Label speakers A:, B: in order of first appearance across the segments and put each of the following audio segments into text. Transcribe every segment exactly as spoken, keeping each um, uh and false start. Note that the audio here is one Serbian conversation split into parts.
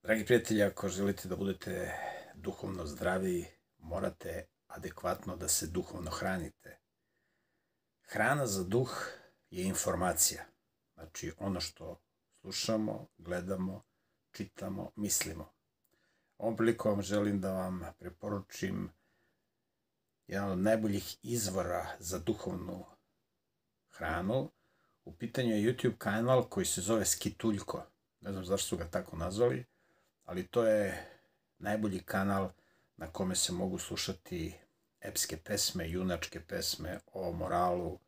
A: Dragi prijatelji, ako želite da budete duhovno zdravi, morate adekvatno da se duhovno hranite. Hrana za duh je informacija. Znači ono što slušamo, gledamo, čitamo, mislimo. Ovom prilikom želim da vam preporučim jedan od najboljih izvora za duhovnu hranu. U pitanju je YouTube kanal koji se zove Skituljko. Ne znam zašto su ga tako nazvali, ali to je najbolji kanal na kome se mogu slušati epske pesme, junačke pesme o moralu,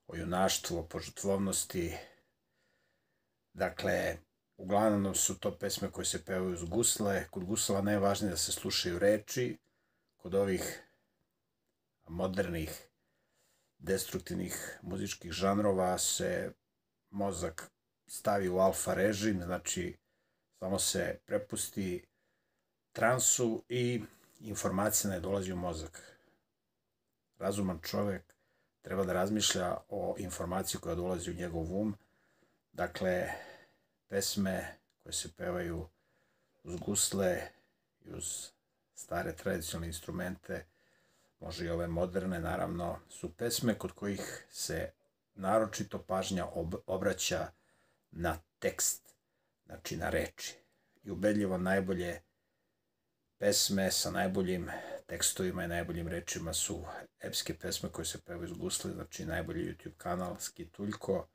A: o junaštvu, o požrtvovnosti. Dakle, uglavnom su to pesme koje se pevaju uz gusle. Kod gusla najvažnije da se slušaju reči. Kod ovih modernih, destruktivnih muzičkih žanrova se mozak stavi u alfa režim, znači samo se prepusti transu i informacija ne dolazi u mozak. Razuman čovek treba da razmišlja o informaciji koja dolazi u njegov um. Dakle, pesme koje se pevaju uz gusle i uz stare tradicionalne instrumente, može i ove moderne, naravno, su pesme kod kojih se naročito pažnja obraća na tekst, znači na reči. I ubedljivo najbolje pesme sa najboljim tekstovima i najboljim rečima su epske pesme koje se pevaju iz gusle, znači najbolji YouTube kanal Skituljko.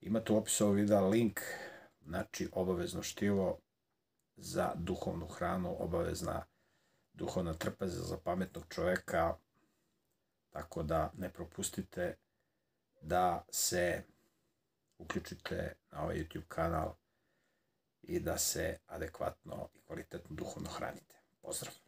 A: Imate u opisu ovog videa link, znači obavezno štivo za duhovnu hranu, obavezna duhovna trpeza za pametnog čoveka, tako da ne propustite da se uključite na ovaj YouTube kanal i da se adekvatno i kvalitetno duhovno hranite. Pozdrav!